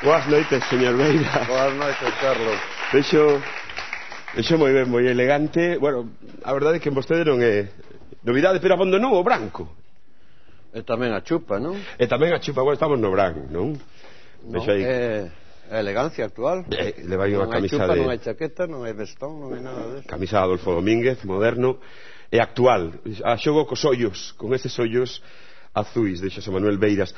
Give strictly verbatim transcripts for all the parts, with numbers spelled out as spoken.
Boas noites, señor Beira. Boas noites, Carlos. Vexo, vexo moi ben, moi elegante. Bueno, a verdade é que vostede non é novidade, pero abandonou o branco. E tamén a chupa, non? E tamén a chupa, bueno, estamos no branco, non? Non, é a elegancia actual. Eh, le vai unha camisa chupa, de... Non hai chaqueta, non hai vestón, non hai nada deso. Camisa de Adolfo Domínguez, moderno e actual. A xogo cos ollos, con eses ollos azuis de Xosé Manuel Beiras.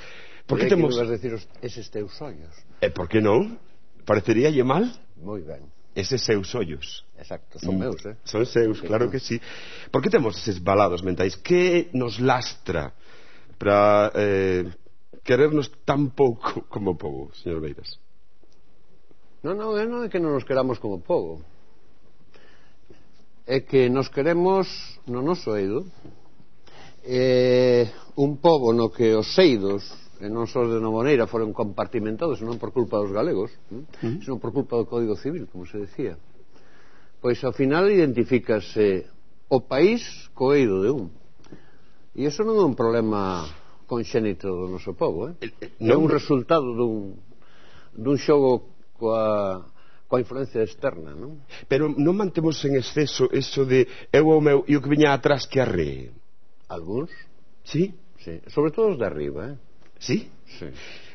Por que temos... Que vas decir eses teus ollos? E por que non? Pareceríalle mal? Moi ben. Eses seus ollos. Exacto, son meus, eh? Son seus, claro que sí. Por que temos eses balados mentais? Que nos lastra para eh, querernos tan pouco como pobo, señor Beiras? Non, non, non é que non nos queramos como pobo. É que nos queremos no noso eido. É un pobo no que os eidos, e non só de Novoneira, foron compartimentados non por culpa dos galegos, ¿eh? Sino por culpa do Código Civil, como se decía. Pois ao final identifícase o país co eido de un, e iso non é un problema conxénito do noso povo, eh? É un resultado dun, dun xogo coa, coa influencia externa, non? Pero non mantemos en exceso eso de eu o meu e o que viña atrás que arree? Algúns? Sí? Sí, sobre todo os de arriba, eh? Sí? Sí.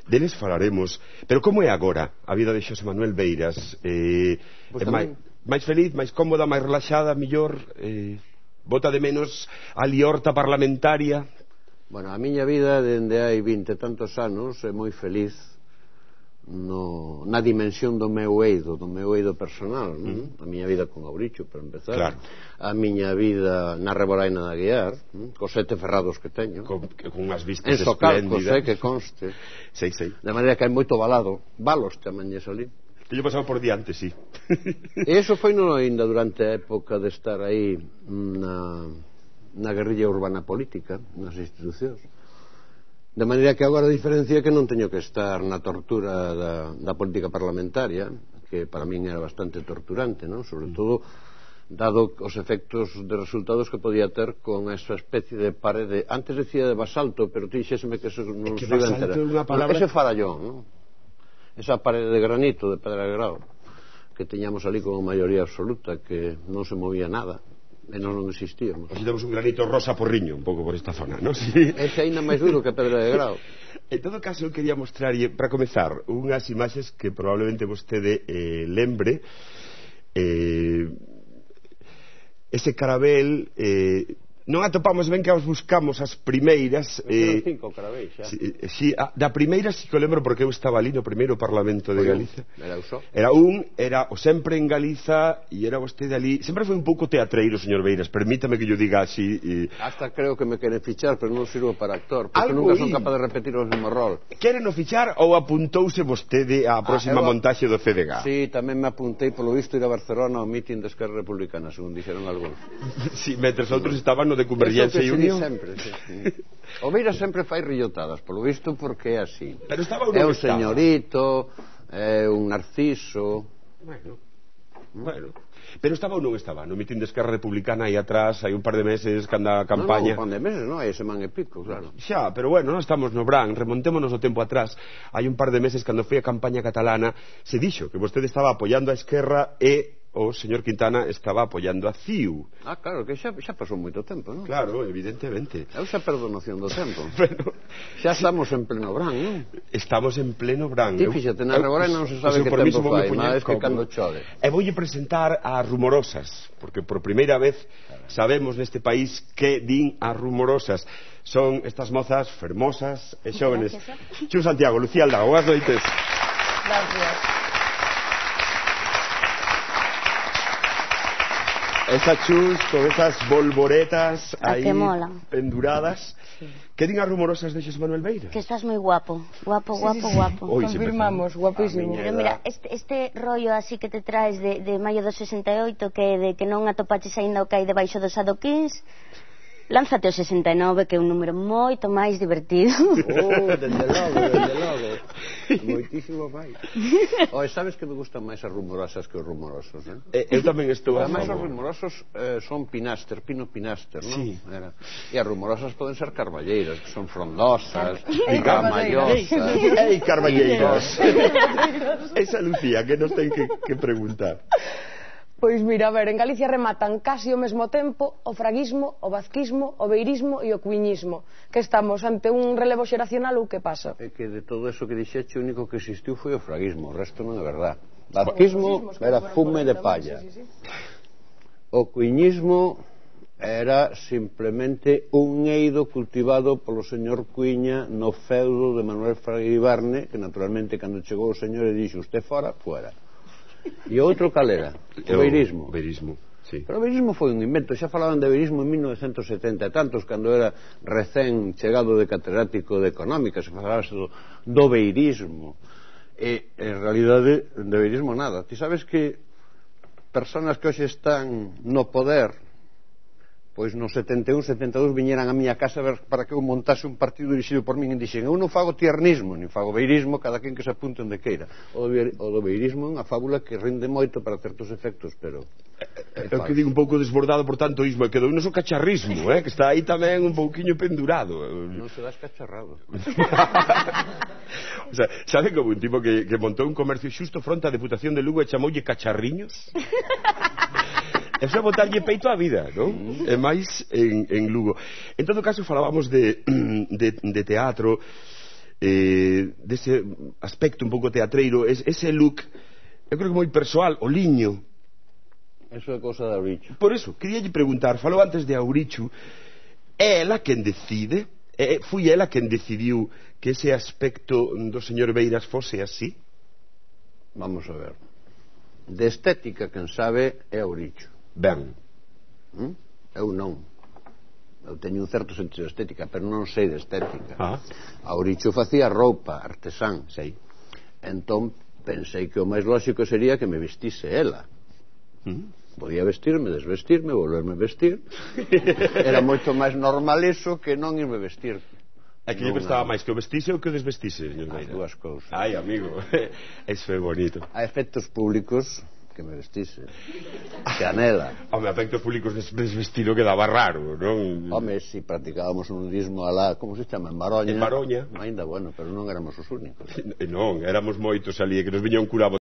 Deles falaremos. Pero como é agora a vida de Xosé Manuel Beiras? Eh, pues é máis, máis feliz, máis cómoda, máis relaxada, millor? Eh, bota de menos a liorta parlamentaria? Bueno, a miña vida dende hai vinte tantos anos é moi feliz no, na dimensión do meu eido, do meu eido personal, non? Mm. A miña vida con Auricho, para empezar, claro. A miña vida na Reboraina da Guiar, mm? Cos sete ferrados que teño, con, con unhas vistas en Socalcos, espléndidas, eh, que conste, sei, sei. De maneira que hai moito balado, balos chamañes ali. Teño pasado por diante, sí. E iso foi non ainda durante a época de estar aí na, na guerrilla urbana política, nas institucións. De maneira que agora a diferencia é que non teño que estar na tortura da, da política parlamentaria, que para min era bastante torturante, non? Sobre todo dado os efectos de resultados que podía ter con esa especie de parede, antes decía de basalto, pero dixéseme que eso non se iba a enterar. Palabra... Ese farallón, non? Esa parede de granito, de pedra de grao, que teñamos ali con maioría absoluta, que non se movía nada. E non non existíamos. Así temos un granito rosa porriño, un pouco por esta zona, non? Sí. Ese ainda máis duro que pedra de grao. En todo caso, eu quería mostrarlle, para comezar, unhas imaxes que probablemente vostede eh, lembre. Eh, ese carabel... Eh, non atopamos ben que os buscamos as primeiras eh, cinco carabéis xa si, si, a, da primeira si que o lembro porque eu estaba ali no primeiro Parlamento de Galiza. Era uso. Era un, era o sempre en Galiza e era vostede ali, sempre foi un pouco teatreiro, señor Beiras, permítame que yo diga así e... Hasta creo que me queren fichar, pero non sirvo para actor, porque algo nunca son capaz de repetir o mesmo rol. Queren o fichar ou apuntouse vostede á próxima ah, montaxe do C D G? Sí, tamén me apuntei polo visto ir a Barcelona ao mitin de Esquerra Republicana, según dixeron algúns. Sí, mentres outros estaban no de Convergencia e Unión. Sempre, sí, sí. O Beira sempre fai rillotadas, polo visto, porque é así. Pero estaba é un estaba. señorito, é un narciso. Bueno, bueno. Pero estaba ou non estaba? No mitin de Esquerra Republicana aí atrás, hai un par de meses que anda a campaña. Non, non, un par de meses, non, hai semana e pico, claro. Xa, pero bueno, non estamos no Bran, remontémonos o tempo atrás. Hai un par de meses, cando foi a campaña catalana, se dixo que vostede estaba apoiando a Esquerra e o señor Quintana estaba apoiando a C I U. Ah, claro, que xa, xa pasou moito tempo, non? Claro, evidentemente. Eu xa perdo noción do tempo. Pero, xa estamos en pleno Bran, non? Estamos en pleno Bran. Ti fíxate, na Reboraina non se sabe que tempo fai, mas que cando chove. E voulle presentar as rumorosas, porque por primeira vez sabemos neste país que din as rumorosas. Son estas mozas fermosas e xóvenes. Chu Santiago, Lucía Aldago, boas noites. Gracias. Esa chus con esas bolboretas aí penduradas. Sí. Que din as rumorosas de Xosé Manuel Beiras? Que estás moi guapo, guapo, guapo, sí, sí, guapo. Hoy confirmamos, guapísimo. Pero mira, este, este rollo así que te traes de, de maio do sesenta e oito, que de que non atopaches aínda o que hai debaixo dos adoquins, Lánzate o sesenta e nove, que é un número moito máis divertido. Oh, dende logo, dende logo. Moitísimo máis. Oe, sabes que me gustan máis as rumorosas que os rumorosos, non? Eh, eu tamén estou a Ademais, os favor. rumorosos eh, son pinaster, pino pinaster, non? Sí. Era. E as rumorosas poden ser carballeiras, que son frondosas, Ei, gamallosas. Ei, carballeiros. Esa Lucía que nos ten que, que preguntar. Pois mira, a ver, en Galicia rematan casi ao mesmo tempo o fraguismo, o vazquismo, o beirismo e o cuiñismo. Que estamos ante un relevo xeracional ou que pasa? É que de todo eso que dixeche, o único que existiu foi o fraguismo, o resto non é verdad. Vazquismo era fume de palla. O cuiñismo era simplemente un eido cultivado polo señor Cuiña no feudo de Manuel Fraga Ibarne, que naturalmente cando chegou o señor e dixo usted fora, fuera. E o outro cal era? O beirismo. O beirismo, sí. Pero o beirismo foi un invento, xa falaban de beirismo en mil novecentos e setenta e tantos, cando era recén chegado de catedrático de económica, se falaba do, do beirismo. E, en realidade, de beirismo nada. Ti sabes que personas que hoxe están no poder, pois no setenta e un, setenta e dous viñeran a miña casa ver para que eu montase un partido dirixido por min e dixen, eu non fago tiernismo, nin fago beirismo, cada quen que se apunte onde queira. O do beirismo é unha fábula que rinde moito para certos efectos, pero é o que digo un pouco desbordado por tanto ismo, e quedou noso cacharrismo, eh, que está aí tamén un pouquiño pendurado. Non se das cacharrado. O sea, sabe como un tipo que, que montou un comercio xusto fronte á Deputación de Lugo e chamoulle Cacharriños? Eso é botarlle peito á vida, non? E máis en, en Lugo. En todo caso, falábamos de, de, de teatro, eh, dese aspecto un pouco teatreiro, es, ese look, eu creo que moi persoal, o liño. Eso é cousa de Auricho. Por eso, queríalle preguntar, falou antes de Auricho, é ela quen decide? É, foi ela quen decidiu que ese aspecto do señor Beiras fose así? Vamos a ver. De estética, quen sabe, é Auricho. Ben. ¿Mm? Eu non. Eu teño un certo sentido de estética, pero non sei de estética. Ah. Auricho facía roupa, artesán. Sei. Entón pensei que o máis lógico sería que me vestise ela. ¿Mm? Podía vestirme, desvestirme, volverme a vestir. Era moito máis normal eso que non irme vestir. É que lle prestaba máis que o vestise ou que o desvestise, señor As Beira? dúas cousas. Ai, amigo, eso é bonito. A efectos públicos, que me vestise. Que anela. Home, a efectos públicos desvestido quedaba raro, non? Home, si practicábamos un nudismo alá, como se chama, en Maroña. En Maroña. Ainda bueno, pero non éramos os únicos. Non, éramos moitos ali, que nos viña un curado